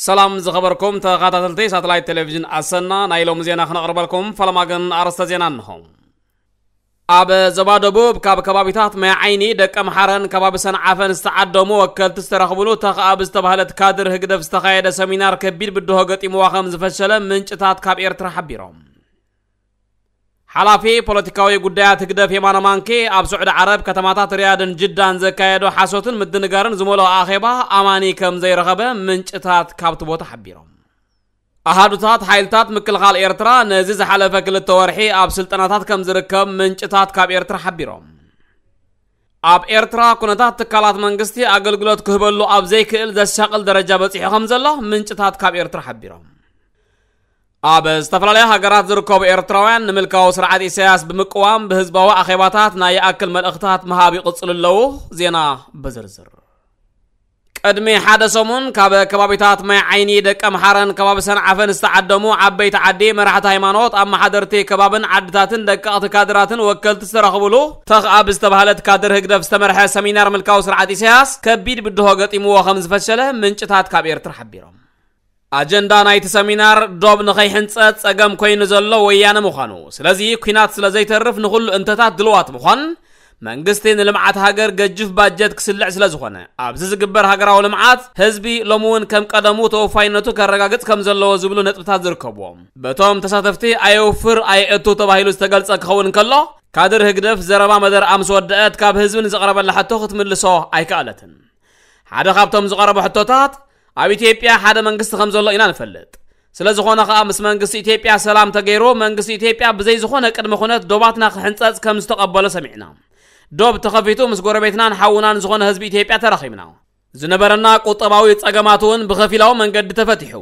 ሰላም ዝኸበርኩም ተኸታተልቲ ሳተላይት ቴሌቪዥን ኣሰና፣ ናይ ሎሚ ዜና ክነቕርበልኩም፣ ፈለማ ግን ኣርእስተ ዜና እንሆ። ኣብ ዞባ ደቡብ ካብ ከባቢታት ማይ ዓይኒ፣ ደቀምሓረን ከባቢ ሰንዓፈን ዝተዓደሙ ወከልቲ ዝተረኽብሉ ተኽኣ ብዝተባህለት ካድር ህግደፍ ዝተኻየደ ሰሚናር ከቢድ ብድሆ ገጢምዋ ከም ዝፈሸለ ምንጭታት ካብ ኤርትራ ሓቢሮም። ሓላፊ ፖለቲካዊ ጉዳያት ህግደፍ የማነ ማንኬ ኣብ ስዑዲ ዓረብ ከተማታት ሪያድን ጅዳን ዘካየዶ ሓሶትን ምድንጋርን ዝመልኦ ኣኼባ ኣማኒ ከም ዘይረኸበ ምንጭታት ካብቲ ቦታ ሓቢሮም። ኣሃዱታት ሓይልታት ምክልኻል ኤርትራ ነዚ ዝሓለፈ ክልተ ወርሒ ኣብ ስልጠናታት ከም ዝርከብ ምንጭታት ካብ ኤርትራ ሓቢሮም። ኣብ ኤርትራ ኩነታት ትካላት መንግስቲ ኣገልግሎት ክህበሉ ኣብ ዘይክእል ዘሻቕል ደረጃ በጺሑ ከም ዘሎ ምንጭታት ካብ ኤርትራ ሓቢሮም። ኣብ ዝተፈላለያ ሃገራት ዝርከቡ ኤርትራውያን ንምልካዊ ስርዓት ኢሳያስ ብምቅዋም ብህዝባዊ ኣኼባታት ናይ ይኣክል መልእኽታት ምሃብ ይቕጽሉ ኣለዉ። ዜና ብዝርዝር። ቅድሚ ሓደ ሰሙን ካብ ከባቢታት ማይ ዓይኒ፣ ደቀምሓረን ከባቢ ሰንዓፈን ዝተዓደሙ ዓበይቲ ዓዲ፣ መራሕቲ ሃይማኖት፣ ኣመሓደርቲ ከባብን ዓድታትን ደቀቕቲ ካድራትን ወከልቲ ዝተረኽብሉ ተኽኣ ብዝተባህለት ካድር ህግደፍ ዝተመርሐ ሰሚናር ምልካዊ ስርዓት ኢሳያስ ከቢድ ብድሆ ገጢምዎ ከም ዝፈሸለ ምንጭታት ካብ ኤርትራ ሓቢሮም። ኣጀንዳ ናይቲ ሰሚናር ዶብ ንኸይሕንጸት ጸገም ኮይኑ ዘሎ ወያነ ምዃኑ፣ ስለዚ ኲናት ስለ ዘይተርፍ ንኹሉ እንተታት ድልዋት ምዃን፣ መንግስቲ ንልምዓት ሃገር ገጅፍ ባጀት ክስልዕ ስለ ዝኾነ፣ ኣብዚ ዝግበር ሃገራዊ ልምዓት ህዝቢ ሎሚ እውን ከም ቀደሙ ተወፋይነቱ ከረጋግጽ ከም ዘለዎ ዝብሉ ነጥብታት ዝርከብዎም። በቶም ተሳተፍቲ ኣየውፍር ኣየእቱ ተባሂሉ ዝተገልጸ ክኸውን እንከሎ፣ ካድር ህግደፍ ዘረባ መደርኣ ምስ ወደአት ካብ ህዝቢ ንዝቐረበላ ሕቶ ክትምልሶ ኣይከኣለትን። ሓደ ካብቶም ዝቐረቡ ሕቶታት፣ ኣብ ኢትዮጵያ ሓደ መንግስቲ ከም ዘሎ ኢና ንፈልጥ። ስለ ዝኾነ ኸኣ ምስ መንግስቲ ኢትዮጵያ ሰላም ተገይሩ፣ መንግስቲ ኢትዮጵያ ብዘይ ዝኾነ ቅድመ ኩነት ዶባትና ክሕንጸጽ ከም ዝተቐበሎ ሰሚዕና። ዶብ ተኸፊቱ ምስ ጎረቤትናን ሓውናን ዝኾነ ህዝቢ ኢትዮጵያ ተራኺብና። ዝነበረና ቁጠባዊ ጸገማት እውን ብኸፊላዊ መንገዲ ተፈቲሑ።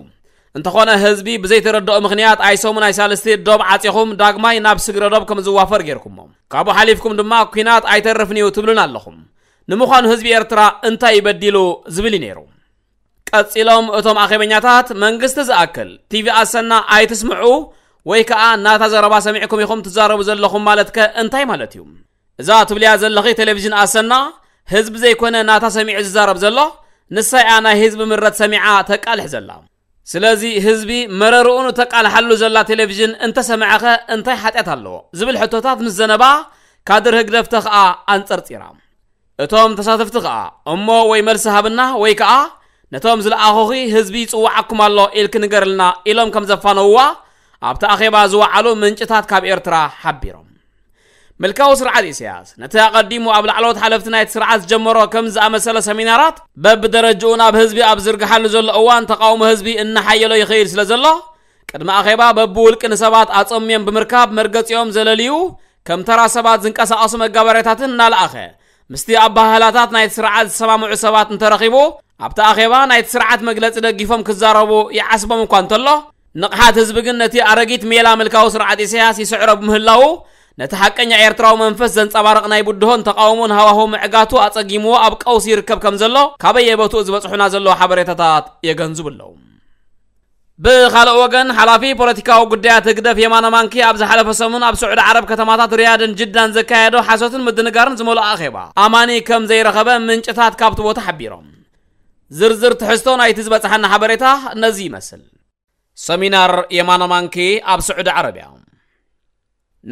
እንተኾነ ህዝቢ ብዘይተረድኦ ምኽንያት ኣይሰሙን ኣይሳልስቲ ዶብ ዓጺኹም ዳግማይ ናብ ስግረ ዶብ ከም ዝዋፈር ጌርኩሞ። ካብኡ ሓሊፍኩም ድማ ኲናት ኣይተርፍን እዩ ትብሉና ኣለኹም። ንምዃኑ ህዝቢ ኤርትራ እንታይ እዩ በዲሉ ዝብል እዩ ነይሩ። ቀጺሎም እቶም ኣኼበኛታት፣ መንግስቲ ዝኣክል ቲቪ ኣሰና ኣይትስምዑ ወይ ከኣ ናታ ዘረባ ሰሚዕኩም ኢኹም ትዛረቡ ዘለኹም ማለት ከ እንታይ ማለት እዩ? እዛ ትብልያ ዘለኺ ቴሌቪዥን ኣሰና ህዝቢ ዘይኮነ ናታ ሰሚዑ ዝዛረብ ዘሎ፣ ንሳ እያ ናይ ህዝቢ ምረት ሰሚዓ ተቃልሕ ዘላ። ስለዚ ህዝቢ መረርኡ ንተቃልሓሉ ዘላ ቴሌቪዥን እንተሰምዐኸ እንታይ ሓጢኣት ኣለዎ? ዝብል ሕቶታት ምስ ዘነባ ካድር ህግደፍ ተኽኣ ኣንጸርጺራ። እቶም ተሳተፍቲ ከኣ እሞ ወይ መልሲ ሃብና ወይ ከኣ ነቶም ዝለኣኹኺ ህዝቢ ይጽውዓኩም ኣሎ ኢልኪ ንገርልና ኢሎም ከም ዘፋነውዋ ኣብቲ ኣኼባ ዝወዓሉ ምንጭታት ካብ ኤርትራ ሓቢሮም። ምልካዊ ስርዓት ኢሳያስ ነቲ ኣቐዲሙ ኣብ ላዕለዎት ሓለፍቲ ናይቲ ስርዓት ዝጀመሮ ከም ዝኣመሰለ ሰሚናራት በብደረጅኡ ናብ ህዝቢ ኣብ ዝርግሓሉ ዘሎ እዋን ተቃውሞ ህዝቢ እናሓየሎ ይኸይድ ስለ ዘሎ ቅድሚ ኣኼባ በብውልቂ ንሰባት ኣጸምዮም ብምርካብ መርገጺኦም ዘለልዩ ከም ተራ ሰባት ዝንቀሳቐሱ መጋበርያታትን እናለኣኸ ምስቲ ኣበሃህላታት ናይቲ ስርዓት ዝሰማምዑ ሰባት እንተረኺቡ ኣብቲ ኣኼባ ናይቲ ስርዓት መግለጺ ደጊፎም ክዛረቡ ይዓስቦም እኳ እንተሎ ንቕሓት ህዝቢ ግን ነቲ ኣረጊት ሜላ ምልካዊ ስርዓት ኢሳያስ ይስዕሮ ብምህላዉ ነቲ ሓቀኛ ኤርትራዊ መንፈስ ዘንጸባርቕ ናይ ብድሆን ተቃውሞን ሃዋህው ምዕጋቱ ኣጸጊምዎ ኣብ ቀውሲ ይርከብ ከም ዘሎ ካበየ ቦትኡ ዝበጽሑና ዘለዉ ሓበሬታታት የገንዝቡ ኣለዉ። ብኻልእ ወገን ሓላፊ ፖለቲካዊ ጉዳያት ህግደፍ የማነ ማንኪ ኣብ ዝሓለፈ ሰሙን ኣብ ስዑዲ ዓረብ ከተማታት ሪያድን ጅዳን ዘካየዶ ሓሶትን ምድንጋርን ዝመልኦ ኣኼባ ኣማኒ ከም ዘይረኸበ ምንጭታት ካብቲ ቦታ ሓቢሮም። ዝርዝር ትሕዝቶ ናይቲ ዝበጽሓና ሓበሬታ ነዚ ይመስል። ሰሚናር የማነ ማንኪ ኣብ ስዑዲ ዓረብያ።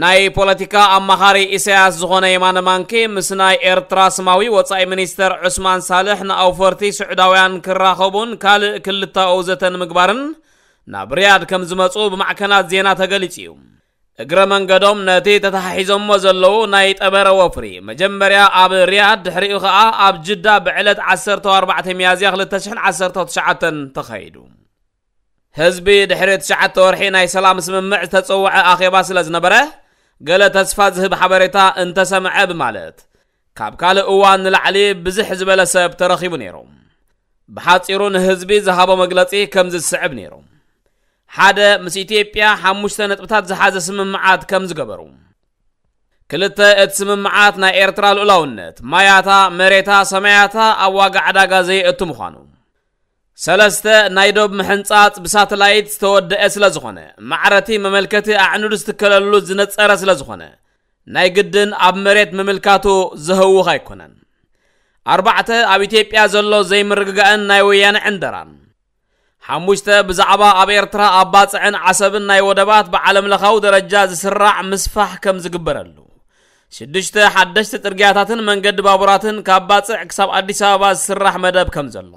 ናይ ፖለቲካ ኣማኻሪ ኢሳያስ ዝኾነ የማነ ማንኪ ምስ ናይ ኤርትራ ስማዊ ወጻኢ ሚኒስተር ዑስማን ሳልሕ ንኣውፈርቲ ስዑዳውያን ክራኸቡን ካልእ ክልተኣዊ ዘተ ንምግባርን ናብ ሪያድ ከም ዝመጹ ብማዕከናት ዜና ተገሊጹ እዩ። እግረ መንገዶም ነቲ ተተሓሒዞሞ ዘለዉ ናይ ጠበረ ወፍሪ መጀመርያ ኣብ ሪያድ ድሕሪኡ ኸኣ ኣብ ጅዳ ብዕለት ዓሰርተ ኣርባዕተ ሚያዝያ ክልተ ሽሕን ዓሰርተ ትሽዓተን ተኻይዱ። ህዝቢ ድሕሪ ትሽዓተ ወርሒ ናይ ሰላም ስምምዕ ዝተጸውዐ ኣኼባ ስለ ዝነበረ ገለ ተስፋ ዝህብ ሓበሬታ እንተሰምዐ ብማለት ካብ ካልእ እዋን ንላዕሊ ብዝሕ ዝበለ ሰብ ተረኺቡ ነይሩ። ብሓጺሩ ንህዝቢ ዝሃቦ መግለጺ ከም ዝስዕብ ነይሩ። ሓደ ምስ ኢትዮጵያ ሓሙሽተ ነጥብታት ዝሓዘ ስምምዓት ከም ዝገበሩ። ክልተ እቲ ስምምዓት ናይ ኤርትራ ልኡላውነት፣ ማያታ፣ መሬታ፣ ሰማያታ ኣብ ዋጋ ዕዳጋ ዘየእቱ ምዃኑ። ሰለስተ ናይ ዶብ ምሕንጻጽ ብሳተላይት ዝተወደአ ስለ ዝኾነ ማዕረቲ መመልከቲ ኣዕኑድ ዝትከለሉ ዝነጸረ ስለ ዝኾነ ናይ ግድን ኣብ መሬት ምምልካቱ ዘህውኽ ኣይኮነን። ኣርባዕተ ኣብ ኢትዮጵያ ዘሎ ዘይምርግጋእን ናይ ወያነ ዕንደራን። ሓሙሽተ፣ ብዛዕባ ኣብ ኤርትራ ኣብ ባጽዕን ዓሰብን ናይ ወደባት ብዓለም ለኻዊ ደረጃ ዝስራዕ ምስፋሕ ከም ዝግበረሉ። ሽዱሽተ፣ ሓደሽቲ ጽርግያታትን መንገዲ ባቡራትን ካብ ባጽዕ ክሳብ ኣዲስ ኣበባ ዝስራሕ መደብ ከም ዘሎ።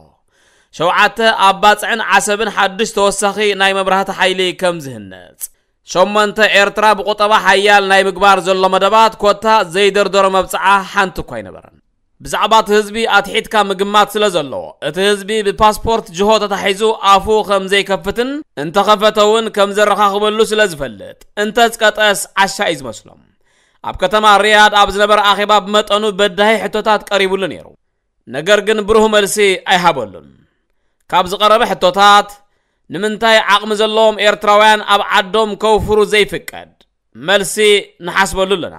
ሸውዓተ፣ ኣብ ባጽዕን ዓሰብን ሓድሽ ተወሳኺ ናይ መብራህቲ ሓይሊ ከም ዝህነጽ። ሸሞንተ፣ ኤርትራ ብቁጠባ ሓያል ናይ ምግባር ዘሎ መደባት ኮታ ዘይደርደሮ መብጽዓ ሓንቲ እኳ ኣይነበረን። ብዛዕባ እቲ ህዝቢ ኣትሒትካ ምግማት ስለ ዘለዎ፣ እቲ ህዝቢ ብፓስፖርት ጅሆ ተታሒዙ ኣፉ ከም ዘይከፍትን እንተኸፈተ እውን ከም ዘረኻኽበሉ ስለ ዝፈልጥ፣ እንተዝቀጠስ ዓሻ እዩ ዝመስሎም። ኣብ ከተማ ሪያድ ኣብ ዝነበረ ኣኼባ ብመጠኑ በዳሂ ሕቶታት ቀሪቡሉ ነይሩ። ነገር ግን ብሩህ መልሲ ኣይሃበሉን። ካብ ዝቐረበ ሕቶታት፣ ንምንታይ ዓቕሚ ዘለዎም ኤርትራውያን ኣብ ዓዶም ከውፍሩ ዘይፍቀድ? መልሲ፣ ንሓስበሉ ኣለና።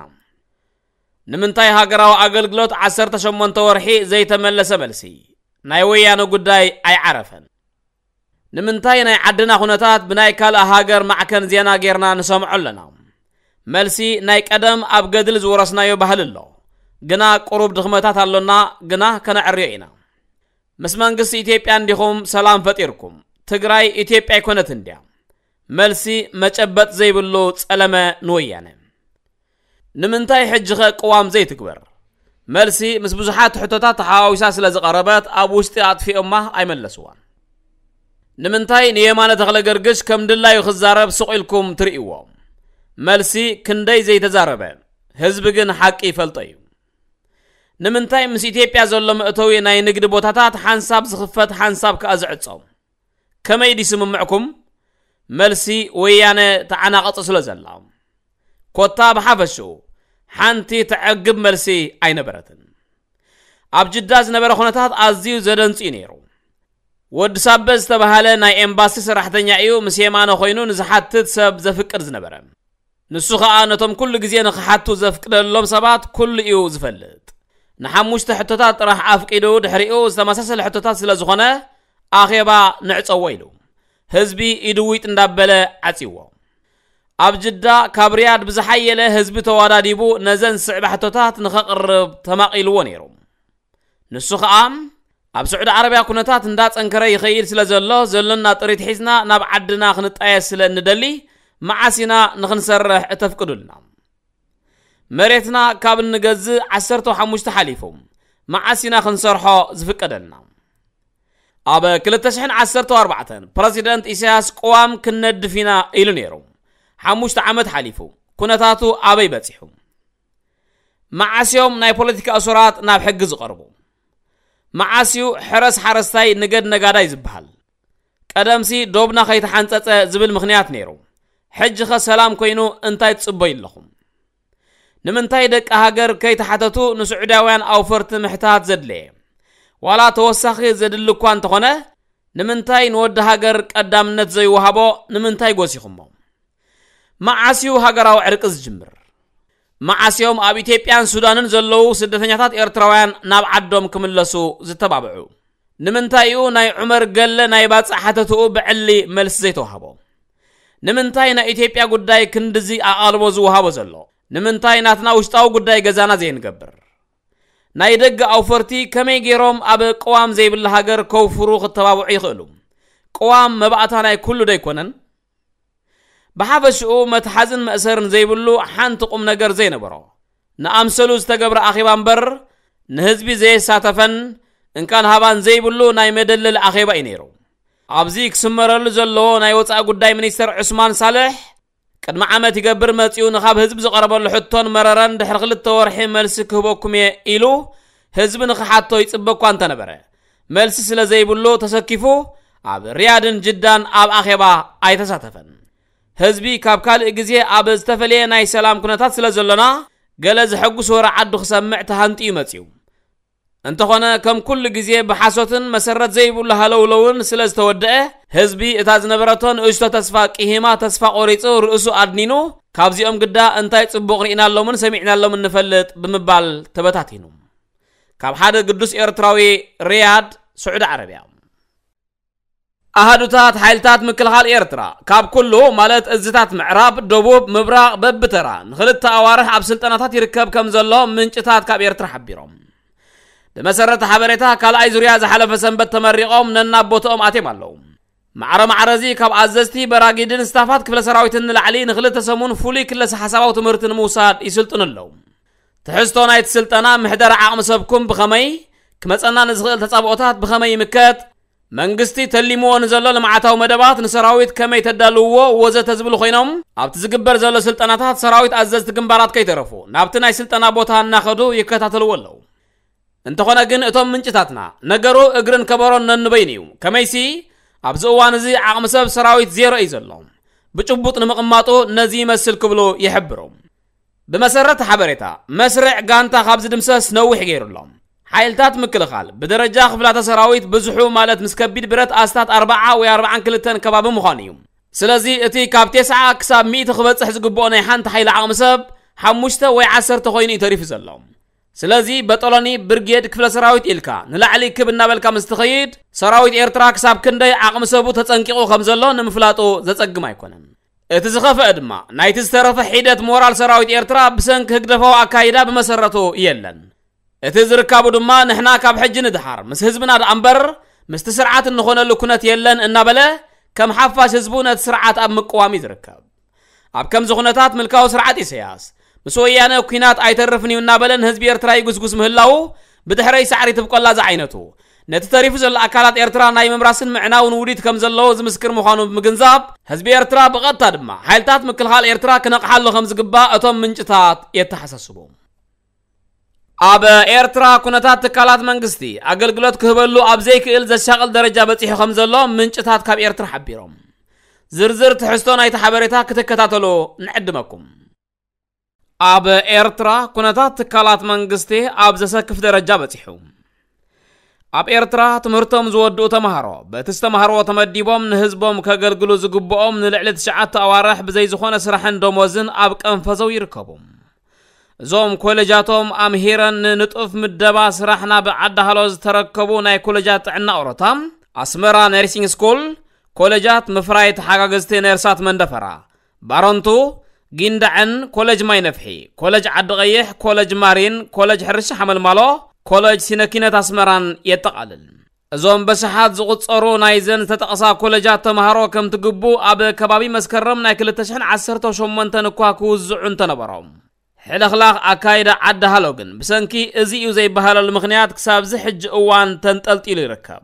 ንምንታይ ሃገራዊ ኣገልግሎት ዓሰርተ ሸሞንተ ወርሒ ዘይተመለሰ? መልሲ፣ ናይ ወያነ ጉዳይ ኣይዓረፈን። ንምንታይ ናይ ዓድና ኩነታት ብናይ ካልእ ሃገር ማዕከን ዜና ጌርና ንሰምዖ ኣለና? መልሲ፣ ናይ ቀደም ኣብ ገድሊ ዝወረስናዮ ባህሊ ኣሎ። ግና ቁሩብ ድኽመታት ኣሎና፣ ግና ከነዕርዮ ኢና። ምስ መንግስቲ ኢትዮጵያ እንዲኹም ሰላም ፈጢርኩም? ትግራይ ኢትዮጵያ ኣይኮነትን ድያ? መልሲ፣ መጨበጥ ዘይብሉ ጸለመ ንወያነ። ንምንታይ ሕጂ ኸ ቅዋም ዘይትግበር? መልሲ፣ ምስ ብዙሓት ሕቶታት ተሓዋዊሳ ስለ ዝቐረበት ኣብ ውሽጢ ኣጥፊኦማ ኣይመለስዋን። ንምንታይ ንየማነ ተኽለ ገርግሽ ከም ድላዩ ክዛረብ ስቕ ኢልኩም ትርእይዎ? መልሲ፣ ክንደይ ዘይተዛረበ፣ ህዝቢ ግን ሓቂ ይፈልጦ እዩ። ንምንታይ ምስ ኢትዮጵያ ዘሎ መእተዊ ናይ ንግዲ ቦታታት ሓንሳብ ዝኽፈት ሓንሳብ ከኣ ዝዕጾ? ከመይ ድዩ ስምምዕኩም? መልሲ፣ ወያነ ተዓናቐጹ ስለ ዘላ። ኮታ ብሓፈሽኡ ሓንቲ ተዕግብ መልሲ ኣይነበረትን። ኣብ ጅዳ ዝነበረ ኩነታት ኣዝዩ ዘደንጽ እዩ ነይሩ። ወዲ ሳበ ዝተባህለ ናይ ኤምባሲ ሰራሕተኛ እዩ ምስ የማነ ኮይኑ ንዝሓትት ሰብ ዘፍቅድ ዝነበረ። ንሱ ኸኣ ነቶም ኩሉ ግዜ ንኽሓቱ ዘፍቅደሎም ሰባት ኩሉ እዩ ዝፈልጥ። ንሓሙሽተ ሕቶታት ጥራሕ ኣፍቂዱ ድሕሪኡ ዝተመሳሰለ ሕቶታት ስለ ዝኾነ ኣኼባ ንዕጸዎ ኢሉ ህዝቢ ኢድዊጥ እንዳበለ ዓጽይዎ። ኣብ ጅዳ ካብ ሪያድ ብዝሓየለ ህዝቢ ተዋዳዲቡ ነዘን ዝስዕባ ሕቶታት ንኸቕርብ ተማቒልዎ ነይሩ። ንሱ ኸኣ ኣብ ስዑዲ ዓረብያ ኩነታት እንዳጸንከረ ይኸይድ ስለ ዘሎ ዘሎና ጥሪት ሒዝና ናብ ዓድና ክንጣየስ ስለ እንደሊ መዓስ ኢና ንኽንሰርሕ እተፍቅዱልና? መሬትና ካብ እንገዝእ ዓሰርተ ሓሙሽተ ሓሊፉ፣ መዓስ ኢና ክንሰርሖ ዝፍቀደልና? ኣብ ክልተ ሽሕን ዓሰርተ ኣርባዕተን ፕረዚደንት ኢሳያስ ቅዋም ክንነድፍ ኢና ኢሉ ነይሩ። ሓሙሽተ ዓመት ሓሊፉ። ኩነታቱ ኣበይ በጺሑ? መዓስ እዮም ናይ ፖለቲካ እሱራት ናብ ሕጊ ዝቐርቡ? መዓስ እዩ ሕረስ ሓረስታይ ንገድ ነጋዳይ ዝበሃል? ቀደምሲ ዶብና ከይተሓንጸጸ ዝብል ምኽንያት ነይሩ። ሕጂ ኸ ሰላም ኮይኑ እንታይ ትጽበዩ ኣለኹም? ንምንታይ ደቂ ሃገር ከይተሓተቱ ንስዑዳውያን ኣውፈርቲ ምሕታት ዘድለየ? ዋላ ተወሳኺ ዘድሊ እኳ እንተኾነ፣ ንምንታይ ንወዲ ሃገር ቀዳምነት ዘይወሃቦ? ንምንታይ ጎሲኹሞ? መዓስ እዩ ሃገራዊ ዕርቂ ዝጅምር? መዓስ እዮም ኣብ ኢትዮጵያን ሱዳንን ዘለዉ ስደተኛታት ኤርትራውያን ናብ ዓዶም ክምለሱ ዝተባብዑ? ንምንታይ እዩ ናይ ዑመር ገለ ናይ ባጽዕ ሓተትኡ ብዕሊ መልሲ ዘይተዋህቦ? ንምንታይ ናይ ኢትዮጵያ ጉዳይ ክንድዚ ኣቓልቦ ዝወሃቦ ዘሎ? ንምንታይ ናትና ውሽጣዊ ጉዳይ ገዛና ዘይንገብር? ናይ ደገ ኣውፈርቲ ከመይ ገይሮም ኣብ ቅዋም ዘይብላ ሃገር ከውፍሩ ክተባብዑ ይኽእሉ? ቅዋም መባእታ ናይ ኩሉ ዶ ኣይኮነን? ብሓፈሽኡ መትሓዝን መእሰርን ዘይብሉ ሓንቲ ቁም ነገር ዘይነበሮ ንኣምሰሉ ዝተገብረ ኣኼባ እምበር ንህዝቢ ዘየሳተፈን እንካን ሃባን ዘይብሉ ናይ መደለሊ ኣኼባ እዩ ነይሩ። ኣብዚ ክስመረሉ ዘለዎ ናይ ወጻኢ ጉዳይ ሚኒስተር ዑስማን ሳልሕ ቅድሚ ዓመት ይገብር መጺኡ ንኻብ ህዝቢ ዝቐረበሉ ሕቶን መረረን ድሕሪ ክልተ ወርሒ መልሲ ክህበኩም እየ ኢሉ ህዝቢ ንኽሓቶ ይጽበ እኳ እንተነበረ መልሲ ስለ ዘይብሉ ተሰኪፉ ኣብ ሪያድን ጅዳን ኣብ ኣኼባ ኣይተሳተፈን። ህዝቢ ካብ ካልእ ግዜ ኣብ ዝተፈለየ ናይ ሰላም ኩነታት ስለ ዘሎና ገለ ዘሐጉስ ወረ ዓዱ ክሰምዕ ተሃንጥዩ መጺኡ። እንተኾነ ከም ኩሉ ግዜ ብሓሶትን መሰረት ዘይብሉ ሃለውለውን ስለ ዝተወደአ ህዝቢ እታ ዝነበረቶ ንእሽቶ ተስፋ ቂሂማ ተስፋ ቆሪጹ ርእሱ ኣድኒኑ ካብዚኦም ግዳ እንታይ ጽቡቕ ርኢናሎምን ሰሚዕናሎምን ንፈልጥ ብምባል ተበታቲኑ። ካብ ሓደ ግዱስ ኤርትራዊ ሪያድ ስዑዲ ዓረብያ። ኣሃዱታት ሓይልታት ምክልኻል ኤርትራ ካብ ኩሉ ማለት እዝታት ምዕራብ፣ ደቡብ፣ ምብራቕ በብተራ ንኽልተ ኣዋርሕ ኣብ ስልጠናታት ይርከብ ከም ዘሎ ምንጭታት ካብ ኤርትራ ሓቢሮም። ብመሰረት ሓበሬታ ካልኣይ ዙርያ ዝሓለፈ ሰንበት ተመሪቖም ነናብ ቦትኦም ኣትዮም ኣለዉ። ማዕረ ማዕረ እዚ ካብ ኣዘዝቲ በራጊድን ስታፋት ክፍለ ሰራዊትን ንላዕሊ ንክልተ ሰሙን ፍሉይ ክለሰ ሓሳባዊ ትምህርቲ ንምውሳድ ይስልጥኑ ኣለዉ። ትሕዝቶ ናይቲ ስልጠና፣ ምሕደራ ዓቕሚ ሰብኩም ብኸመይ፣ ክመጸና ንዝኽእል ተጻብኦታት ብኸመይ ይምከት፣ መንግስቲ ተሊምዎ ንዘሎ ልምዓታዊ መደባት ንሰራዊት ከመይ ተዳልውዎ ወዘተ ዝብሉ ኮይኖም፣ ኣብቲ ዝግበር ዘሎ ስልጠናታት ሰራዊት ኣዘዝቲ ግንባራት ከይተረፉ ናብቲ ናይ ስልጠና ቦታ እናኸዱ ይከታተልዎ ኣለዉ። እንተኾነ ግን እቶም ምንጭታትና፣ ነገሩ እግርን ከበሮን ነንበይኑ እዩ። ከመይሲ ኣብዚ እዋን እዚ ዓቕሚ ሰብ ሰራዊት ዜሮ እዩ ዘሎ። ብጭቡጥ ንምቕማጡ ነዚ ይመስል ክብሉ ይሕብሩ። ብመሰረት ሓበሬታ፣ መስርዕ ጋንታ ካብ ዝድምሰስ ነዊሕ ገይሩ ኣሎ። ሓይልታት ምክልኻል ብደረጃ ክፍላተ ሰራዊት ብዙሑ ማለት ምስ ከቢድ ብረት ኣስታት ኣርብዓ ወይ ኣርብዓን ክልተን ከባቢ ምዃኑ እዩ። ስለዚ እቲ ካብ ተስዓ ክሳብ ሚእቲ ክበጽሕ ዝግብኦ ናይ ሓንቲ ሓይሊ ዓቕሚ ሰብ ሓሙሽተ ወይ ዓሰርተ ኮይኑ እዩ ተሪፉ ዘሎ። ስለዚ በጠሎኒ፣ ብርጌድ፣ ክፍለ ሰራዊት ኢልካ ንላዕሊ ክብ እናበልካ ምስ ትኸይድ፣ ሰራዊት ኤርትራ ክሳብ ክንደይ ዓቕሚ ሰቡ ተጸንቂቑ ከም ዘሎ ንምፍላጡ ዘጸግም ኣይኮነን። እቲ ዝኸፍአ ድማ ናይቲ ዝተረፈ ሒደት ሞራል ሰራዊት ኤርትራ ብሰንኪ ህግደፋዊ ኣካይዳ ብመሰረቱ የለን። እቲ ዝርካቡ ድማ ንሕና ካብ ሕጂ ንድሓር ምስ ህዝብና ደኣ እምበር ምስቲ ስርዓት እንኾነሉ ኩነት የለን እናበለ ከም ሓፋሽ ህዝቡ ነቲ ስርዓት ኣብ ምቅዋም እዩ ዝርከብ። ኣብ ከምዚ ኩነታት ምልካዊ ስርዓት ኢሳያስ ምስ ወያነ ኩናት ኣይተርፍን እዩ እናበለ ንህዝቢ ኤርትራ ይጉስጉስ ምህላዉ ብድሕረይ ሳዕሪ ትብቆላ ዝዓይነቱ ነቲ ተሪፉ ዘሎ ኣካላት ኤርትራ ናይ ምምራስን ምዕናውን ውዲት ከም ዘለዎ ዝምስክር ምዃኑ ብምግንዛብ ህዝቢ ኤርትራ ብቐጥታ ድማ ሓይልታት ምክልኻል ኤርትራ ክነቕሓሉ ከም ዝግባእ እቶም ምንጭታት የተሓሳስቡ። ኣብ ኤርትራ ኩነታት ትካላት መንግስቲ ኣገልግሎት ክህበሉ ኣብ ዘይክእል ዘሻቕል ደረጃ በጺሑ ከም ዘሎ ምንጭታት ካብ ኤርትራ ሓቢሮም። ዝርዝር ትሕዝቶ ናይቲ ሓበሬታ ክትከታተሉ ንዕድመኩም። ኣብ ኤርትራ ኩነታት ትካላት መንግስቲ ኣብ ዘሰክፍ ደረጃ በጺሑ። ኣብ ኤርትራ ትምህርቶም ዝወድኡ ተማሃሮ በቲ ዝተማሃርዎ ተመዲቦም ንህዝቦም ከገልግሉ ዝግብኦም ንልዕሊ ትሽዓተ ኣዋርሕ ብዘይ ዝኾነ ስራሕን ደሞዝን ኣብ ቀንፈዘው ይርከቡ። እዞም ኮሌጃቶም ኣምሂረን ንንጡፍ ምደባ ስራሕ ናብ ዓዲ ሃሎ ዝተረከቡ ናይ ኮሌጃት ጥዕና ኦሮታ፣ ኣስመራ ነርሲንግ ስኩል፣ ኮሌጃት ምፍራይ ተሓጋገዝቲ ነርሳት መንደፈራ፣ ባረንቱ፣ ጊንዳዕን፣ ኮሌጅ ማይ ነፍሒ፣ ኮሌጅ ዓዲ ቀይሕ፣ ኮሌጅ ማሪን፣ ኮሌጅ ሕርሻ ሓመልማሎ፣ ኮሌጅ ሲነኪነት ኣስመራን የጠቓልል። እዞም በሽሓት ዝቑጸሩ ናይዘን ዝተጠቕሳ ኮሌጃት ተምሃሮ ከምቲ ግቡእ ኣብ ከባቢ መስከረም ናይ ክልተ ሽሕን ዓሰርተ ሸሞንተን እኳ ክውዝዑ እንተነበሮም፣ ሕልኽላኽ ኣካይዳ ዓዲ ሃሎ ግን ብሰንኪ እዚ እዩ ዘይበሃለሉ ምኽንያት ክሳብዚ ሕጂ እዋን ተንጠልጢሉ ይርከብ።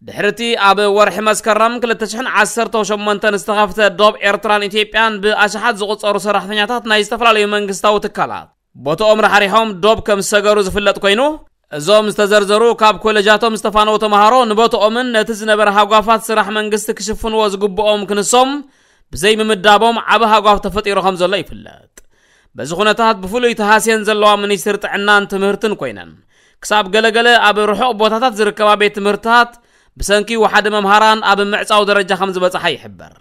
ድሕሪቲ ኣብ ወርሒ መስከረም ክልተ ሽሕን ዓሰርተ ሸሞንተን ዝተኸፍተ ዶብ ኤርትራን ኢትዮጵያን ብኣሽሓት ዝቑጸሩ ሰራሕተኛታት ናይ ዝተፈላለዩ መንግስታዊ ትካላት ቦታኦም ራሕሪሖም ዶብ ከም ዝሰገሩ ዝፍለጥ ኮይኑ፣ እዞም ዝተዘርዘሩ ካብ ኮሌጃቶም ዝተፋነዉ ተምሃሮ ንቦታኦምን ነቲ ዝነበረ ሃጓፋት ስራሕ መንግስቲ ክሽፍንዎ ዝግብኦም ክንሶም ብዘይምምዳቦም ዓቢ ሃጓፍ ተፈጢሩ ከም ዘሎ ይፍለጥ። በዚ ኩነታት ብፍሉይ ተሃስየን ዘለዋ ሚኒስትሪ ጥዕናን ትምህርትን ኮይነን ክሳብ ገለገለ ኣብ ርሑቕ ቦታታት ዝርከባ ቤት ትምህርትታት ብሰንኪ ወሓደ መምሃራን ኣብ ምዕጻው ደረጃ ከም ዝበጽሓ ይሕበር።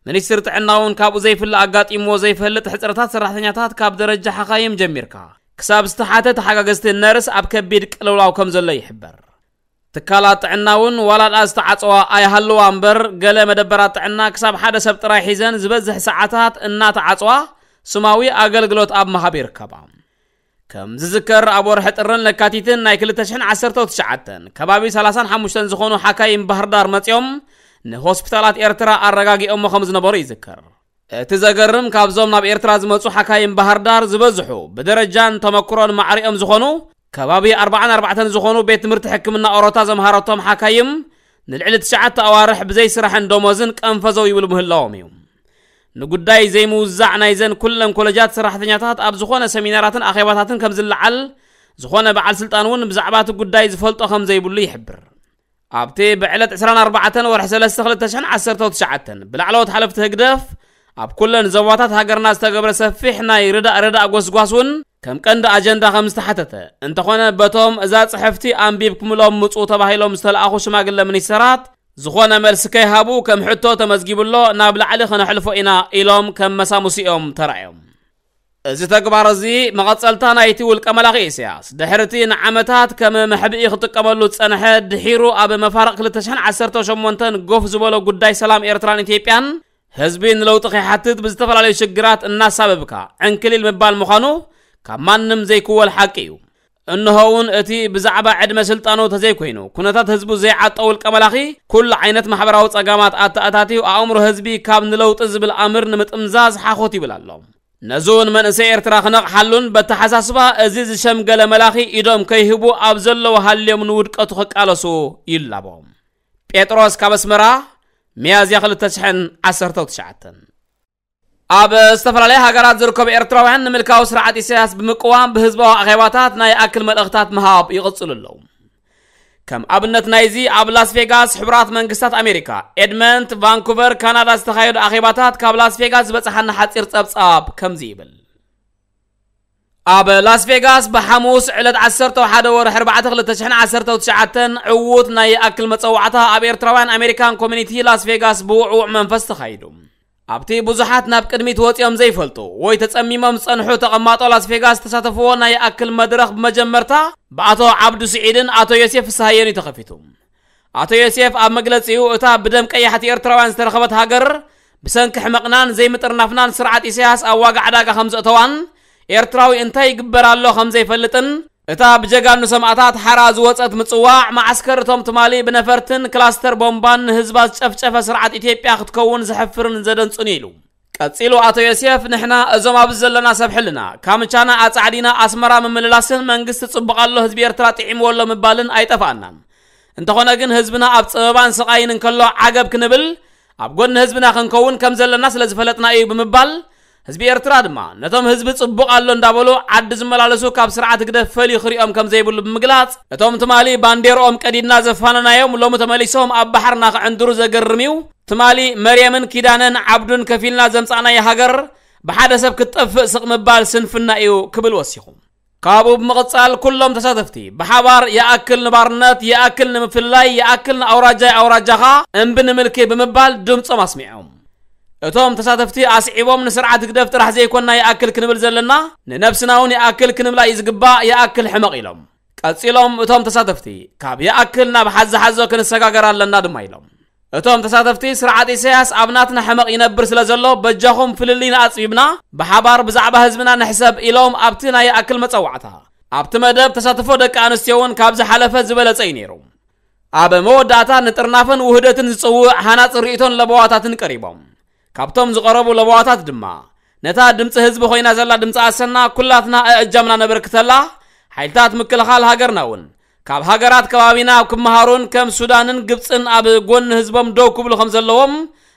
ሚኒስትሪ ጥዕና እውን ካብኡ ዘይፍለ ኣጋጢምዎ ዘይፈልጥ ሕጽረታት ሰራሕተኛታት ካብ ደረጃ ሓኻይም ጀሚርካ ክሳብ ዝተሓተ ተሓጋገዝቲ ነርስ ኣብ ከቢድ ቅልውላው ከም ዘሎ ይሕበር። ትካላት ጥዕና እውን ዋላ ደኣ ዝተዓጽዋ ኣይሃልዋ እምበር፣ ገለ መደበራት ጥዕና ክሳብ ሓደ ሰብ ጥራይ ሒዘን ዝበዝሕ ሰዓታት እናተዓጽዋ ስማዊ ኣገልግሎት ኣብ ምሃብ ይርከባ። ከም ዝዝከር፣ ኣብ ወርሒ ጥርን ለካቲትን ናይ ክልተ ሽሕን ዓሰርተ ትሽዓተን ከባቢ ሰላሳን ሓሙሽተን ዝኾኑ ሓካይም ባህር ዳር መጺኦም ንሆስፒታላት ኤርትራ ኣረጋጊኦሞ ከም ዝነበሩ ይዝከር። እቲ ዘገርም፣ ካብዞም ናብ ኤርትራ ዝመጹ ሓካይም ባህር ዳር ዝበዝሑ ብደረጃን ተመክሮን ማዕሪኦም ዝኾኑ ከባቢ ኣርባዓን ኣርባዕተን ዝኾኑ ቤት ትምህርቲ ሕክምና ኦሮታ ዘምሃረቶም ሓካይም ንልዕሊ ትሽዓተ ኣዋርሕ ብዘይ ስራሕን ደሞዝን ቀንፈዘው ይብሉ ምህላዎም እዩ። ንጉዳይ ዘይምውዛዕ ናይዘን ኩለን ኮለጃት ሰራሕተኛታት ኣብ ዝኾነ ሰሚናራትን ኣኼባታትን ከም ዝለዓል፣ ዝኾነ በዓል ስልጣን እውን ብዛዕባ እቲ ጉዳይ ዝፈልጦ ከም ዘይብሉ ይሕብር። ኣብቲ ብዕለት ዕስራን ኣርባዕተን ወርሒ ሰለስተ ክልተ ሽሕን ዓሰርተ ትሽዓተን ብላዕለዎት ሓለፍቲ ህግደፍ ኣብ ኩለን ዞባታት ሃገርና ዝተገብረ ሰፊሕ ናይ ርዳእ ርዳእ ጎስጓስ እውን ከም ቀንዲ ኣጀንዳ ከም ዝተሓተተ፣ እንተኾነ በቶም እዛ ጽሕፍቲ ኣንቢብኩምሎም ምጹ ተባሂሎም ዝተለኣኹ ሽማግለ ሚኒስተራት ዝኾነ መልሲ ከይሃቡ፣ ከም ሕቶ ተመዝጊቡ ኣሎ፣ ናብ ላዕሊ ከነሕልፎ ኢና ኢሎም ከም መሳሙሲኦም ተራእዮም። እዚ ተግባር እዚ መቐጸልታ ናይቲ ውልቀ መላኺ ኢሳያስ ድሕርቲ ንዓመታት ከም መሕብኢ ክጥቀመሉ ዝጸንሐ፣ ድሒሩ ኣብ መፋርቕ ክልተ ሽሕን ዓሰርተ ሸሞንተን ጎፍ ዝበሎ ጉዳይ ሰላም ኤርትራን ኢትዮጵያን ህዝቢ ንለውጢ ከይሓትት ብዝተፈላለዩ ሽግራት እናሳበብካ ዕንክሊል ምባል ምዃኑ ካብ ማንም ዘይክወል ሓቂ እዩ። እንሆ እውን እቲ ብዛዕባ ዕድመ ስልጣኑ ተዘይኮይኑ ኩነታት ህዝቡ ዘይዓጦ ውልቀ መላኺ፣ ኩሉ ዓይነት ማሕበራዊ ጸጋማት ኣተኣታትዩ ኣእምሮ ህዝቢ ካብ ንለውጢ ዝብል ኣምር ንምጥምዛዝ ሓኾት ይብል ኣሎ። ነዚ እውን መንእሰይ ኤርትራ ክነቕሓሉን በተሓሳስባ እዚ ዝሸምገለ መላኺ ኢዶም ከይህቡ ኣብ ዘለዉ ሃልዮም ንውድቀቱ ክቃለሱ ይላቦ። ጴጥሮስ ካብ ኣስመራ፣ ሚያዝያ ክልተ ሽሕን ዓሰርተ ትሽዓተን። ኣብ ዝተፈላለያ ሃገራት ዝርከቡ ኤርትራውያን ንምልካዊ ስርዓት ኢሳያስ ብምቅዋም ብህዝባዊ ኣኼባታት ናይ ኣክል መልእኽታት ምሃብ ይቕጽሉ ኣለዉ። ከም ኣብነት ናይዚ ኣብ ላስ ቬጋስ ሕቡራት መንግስታት ኣሜሪካ፣ ኤድመንት፣ ቫንኩቨር፣ ካናዳ ዝተኻየዱ ኣኼባታት ካብ ላስ ቬጋስ ዝበጽሓና ሓጺር ጸብጻብ ከምዚ ይብል። ኣብ ላስ ቬጋስ ብሓሙስ ዕለት ዓሰርተ ሓደ ወርሒ ኣርባዕተ ክልተ ሽሕን ዓሰርተ ትሽዓተን ዕዉት ናይ ኣክል መጸዋዕታ ኣብ ኤርትራውያን ኣሜሪካን ኮሚኒቲ ላስ ቬጋስ ብውዕዉዕ መንፈስ ተኻይዱ። ኣብቲ ብዙሓት ናብ ቅድሚት ወጺኦም ዘይፈልጡ ወይ ተጸሚሞም ዝጸንሑ ተቐማጦ ላስ ቬጋስ ዝተሳተፍዎ ናይ ኣክል መድረኽ ብመጀመርታ ብኣቶ ዓብዱ ስዒድን ኣቶ ዮሴፍ ፍስሃየን እዩ ተኸፊቱ። ኣቶ ዮሴፍ ኣብ መግለጺኡ፣ እታ ብደም ቀያሕቲ ኤርትራውያን ዝተረኸበት ሃገር ብሰንኪ ሕመቕናን ዘይምጥርናፍናን ስርዓት ኢሳያስ ኣብ ዋጋ ዕዳጋ ከም ዘእተዋን ኤርትራዊ እንታይ ይግበር ኣሎ ከም ዘይፈልጥን እታ ብጀጋኑ ሰማእታት ሓራ ዝወጸት ምጽዋዕ መዓስከር እቶም ትማሊ ብነፈርትን ክላስተር ቦምባን ንህዝባ ዝጨፍጨፈ ስርዓት ኢትዮጵያ ክትከውን ዘሕፍርን ዘደንጹን ኢሉ። ቀጺሉ ኣቶ ዮሴፍ፣ ንሕና እዞም ኣብዚ ዘለና ሰብ ሕልና ካምቻና ኣጻዕዲና ኣስመራ ምምልላስን መንግስቲ ጽቡቕ ኣሎ ህዝቢ ኤርትራ ጥዒምዎ ኣሎ ምባልን ኣይጠፍኣናን። እንተኾነ ግን ህዝብና ኣብ ጸበባን ስቓይን እንከሎ ዓገብ ክንብል ኣብ ጎኒ ህዝብና ክንከውን ከም ዘለና ስለ ዝፈለጥና እዩ ብምባል ህዝቢ ኤርትራ ድማ ነቶም ህዝቢ ጽቡቕ ኣሎ እንዳበሉ ዓዲ ዝመላለሱ ካብ ስርዓት ህግደፍ ፈልዩ ክሪኦም ከም ዘይብሉ ብምግላጽ እቶም ትማሊ ባንዴርኦም ቀዲድና ዘፋነናዮም ሎሚ ተመሊሶም ኣብ ባሕርና ክዕንድሩ ዘገርም እዩ። ትማሊ መርየምን ኪዳነን ዓብዱን ከፊልና ዘምጻእናዮ ሃገር ብሓደ ሰብ ክትጠፍእ ስቕ ምባል ስንፍና እዩ ክብል ወሲኹ። ካብኡ ብምቕጻል ኩሎም ተሳተፍቲ ብሓባር ይኣክል ንባርነት፣ ይኣክል ንምፍልላይ፣ ይኣክል ንኣውራጃይ ኣውራጃኻ እምቢ ንምልኪ ብምባል ድምጾም ኣስሚዖም። እቶም ተሳተፍቲ ኣስዒቦም ንስርዓት ህግደፍ ጥራሕ ዘይኮንና ይኣክል ክንብል ዘለና ንነብስና እውን ይኣክል ክንብላ እዩ ዝግባእ፣ ይኣክል ሕመቕ ኢሎም። ቀጺሎም እቶም ተሳተፍቲ ካብ ይኣክል ናብ ሓዚ ሓዞ ክንሰጋገር ኣለና ድማ ኢሎም። እቶም ተሳተፍቲ ስርዓት ኢሳያስ ኣብ ናትና ሕመቕ ይነብር ስለ ዘሎ በጃኹም ፍልልይና ኣጽቢብና ብሓባር ብዛዕባ ህዝብና ንሕሰብ ኢሎም ኣብቲ ናይ ይኣክል መጸዋዕታ ኣብቲ መደብ ተሳትፎ ደቂ ኣንስትዮ እውን ካብ ዝሓለፈ ዝበለጸ እዩ ነይሩ። ኣብ መወዳእታ ንጥርናፈን ውህደትን ዝጽውዕ ሃናጺ ርእይቶን ለበዋታትን ቀሪቦም። ካብቶም ዝቐረቡ ለበዋታት ድማ ነታ ድምጺ ህዝቢ ኮይና ዘላ ድምጺ ኣሰና ኩላትና ኣእጃምና ነበርክተላ፣ ሓይልታት ምክልኻል ሃገርና እውን ካብ ሃገራት ከባቢና ክመሃሩን ከም ሱዳንን ግብጽን ኣብ ጎኒ ህዝቦም ደው ክብሉ ከም ዘለዎም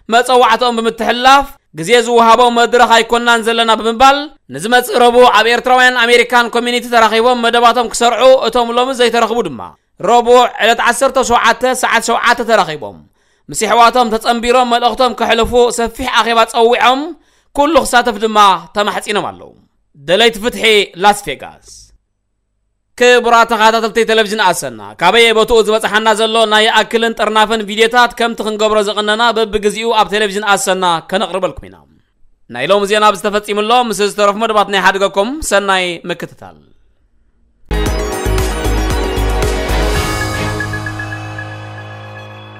መጸዋዕታኦም ብምትሕልላፍ ግዜ ዝወሃቦ መድረኽ ኣይኮናን ዘለና ብምባል ንዝመጽእ ረቡዕ ኣብ ኤርትራውያን ኣሜሪካን ኮሚኒቲ ተራኺቦም መደባቶም ክሰርዑ እቶም ሎሚ ዘይተረኽቡ ድማ ረቡዕ ዕለት ዓሰርተ ሸውዓተ ሰዓት ሸውዓተ ተራኺቦም ምስ ኣሕዋቶም ተጸንቢሮም መልእኽቶም ከሕልፉ ሰፊሕ ኣኼባ ጸዊዖም ኩሉ ክሳተፍ ድማ ተማሕጺኖም ኣለዉ። ደለይቲ ፍትሒ ላስ ቬጋስ። ክቡራት ተኸታተልቲ ቴሌቪዥን ኣሰና፣ ካበየ ቦትኡ ዝበጽሓና ዘሎ ናይ ኣክልን ጥርናፈን ቪድዮታት ከምቲ ክንገብሮ ዝቕነና በብግዜኡ ኣብ ቴሌቪዥን ኣሰና ከነቕርበልኩም ኢና። ናይ ሎሚ ዜና ኣብዚ ተፈጺሙ ኣሎ። ምስ ዝተረፉ መደባት ናይ ሓድገኩም ሰናይ ምክትታል።